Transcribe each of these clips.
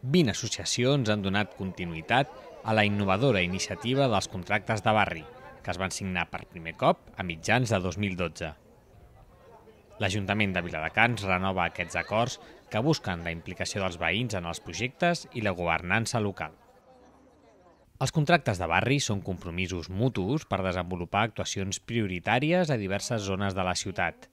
20 associacions han donat continuïtat a la innovadora iniciativa dels contractes de barri, que es van signar per primer cop a mitjans de 2012. L'Ajuntament de Viladecans renova aquests acords que busquen la implicació dels veïns en els projectes i la governança local. Els contractes de barri són compromisos mutus per desenvolupar actuacions prioritàries a diverses zones de la ciutat.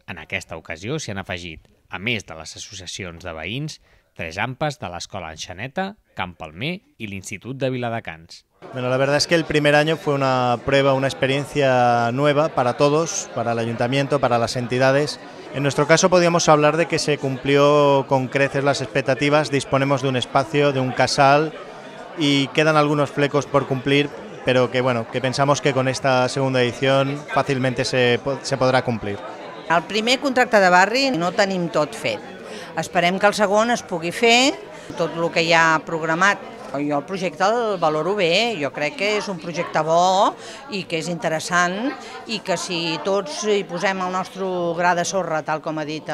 En aquesta ocasió s'hi han afegit, a més de les associacions de veïns, 3 AMPAs de l'Escola Enxaneta, Camp Palmer i l'Institut de Viladecans. Bueno, la verdad es que el primer año fue una prueba, una experiencia nueva para todos, para el ayuntamiento, para las entidades. En nuestro caso podríamos hablar de que se cumplió con creces las expectativas, disponemos de un espacio, de un casal y quedan algunos flecos por cumplir, pero que pensamos que con esta segunda edición fàcilment se podrà complir. El primer contracte de barri no tenim tot fet. Esperem que el segon es pugui fer, tot el que hi ha programat. Jo el projecte el valoro bé, jo crec que és un projecte bo i que és interessant i que si tots hi posem el nostre gra de sorra, tal com ha dit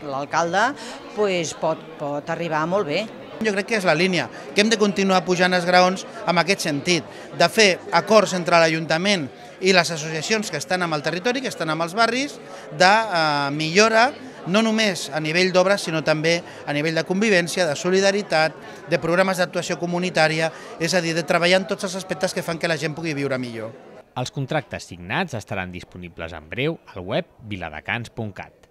l'alcalde, pot arribar molt bé. Jo crec que és la línia, que hem de continuar pujant els graons en aquest sentit, de fer acords entre l'Ajuntament i les associacions que estan amb el territori, que estan amb els barris, de millora, no només a nivell d'obres, sinó també a nivell de convivència, de solidaritat, de programes d'actuació comunitària, és a dir, de treballar en tots els aspectes que fan que la gent pugui viure millor. Els contractes signats estaran disponibles en breu al web viladecans.cat.